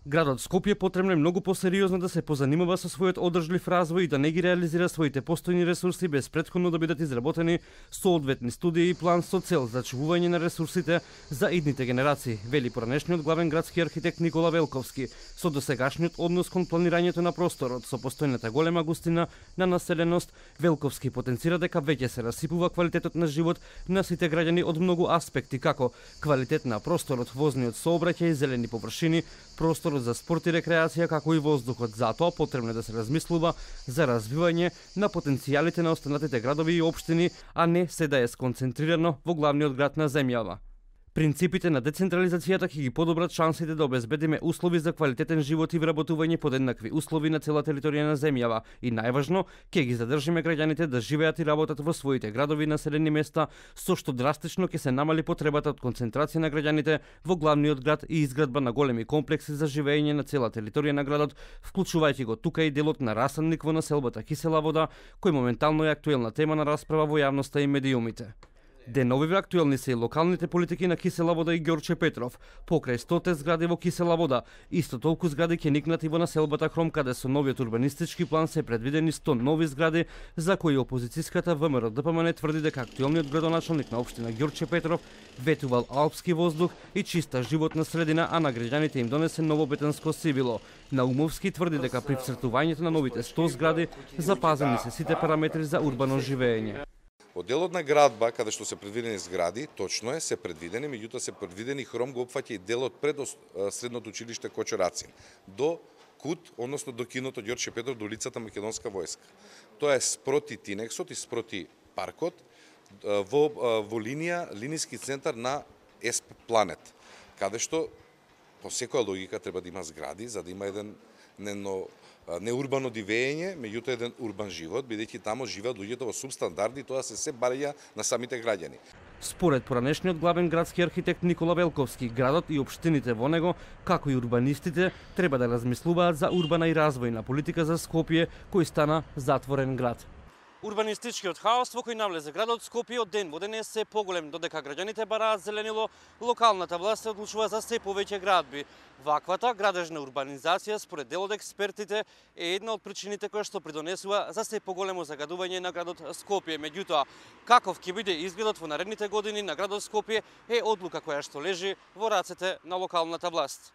Градот Скопје потребно е многу посериозно да се позанимава со својот одржлив развој и да не ги реализира своите постојни ресурси без претходно да бидат изработени соодветни студии и план со цел за чувување на ресурсите за идните генерации, вели поранешниот главен градски архитект Никола Велковски. Со досегашниот однос кон планирањето на просторот, со постојната голема густина на населеност, Велковски потенцира дека веќе се расипува квалитетот на живот на сите граѓани од многу аспекти, како квалитет на просторот, возниот сообраќај, зелени површини, просторот за спорт и рекреација, како и воздухот. Затоа потребно е да се размислува за развивање на потенцијалите на останатите градови и општини, а не се да е сконцентрирано во главниот град на земјава. Принципите на децентрализацијата ќе ги подобрат шансите да обезбедиме услови за квалитетен живот и вработување под еднакви услови на цела територија на земјава и најважно, ќе ги задржиме граѓаните да живеат и работат во своите градови и населени места, со што драстично ќе се намали потребата од концентрација на граѓаните во главниот град и изградба на големи комплекси за живење на цела територија на градот, вклучувајќи го тука и делот на расадник во населбата Кисела вода, кој моментално е актуелна тема на расправа во јавноста и медиумите. Деновиве актуелни се и локалните политики на Кисела вода и Ѓорче Петров. Покрај 100 згради во Кисела вода, исто толку згради ќе никнати во населбата Хром, каде со новиот урбанистички план се предвидени 100 нови згради, за кои опозицијската ВМРО ДПМН тврди дека актуелниот градоначалник на општина Ѓорче Петров ветувал алпски воздух и чиста животна средина, а на граѓаните им донесе ново бетонско сивило. Наумовски тврди дека при вцртувањето на новите 100 згради запазени се сите параметри за урбано живење. Од делот на градба, каде што се предвидени згради, точно е, се предвидени, меѓутоа се предвидени Хром го опфаќа и делот пред средното училиште Кочорацин, до КУТ, односно до киното Ѓорче Петров, до улицата Македонска војска. Тоа е спроти Тинексот и спроти паркот, во линиски центар на ЕСП Планет, каде што по секоја логика треба да има згради, за да има еден неурбано дивење, меѓутоа еден урбан живот, бидејќи таму живеат луѓето во субстандарди, тоа се барања на самите граѓани. Според поранешниот главен градски архитект Никола Велковски, градот и општините во него, како и урбанистите, треба да размислуваат за урбана и развојна политика за Скопје, кој стана затворен град. Урбанистичкиот хаос во кој навлезе градот Скопје од ден во ден е се поголем, додека граѓаните бараат зеленило, локалната власт се одлучува за се повеќе градби. Ваквата градежна урбанизација, според дел од експертите, е една од причините која што придонесува за се поголемо загадување на градот Скопје. Меѓутоа, каков ќе биде изгледот во наредните години на градот Скопје е одлука која што лежи во рацете на локалната власт.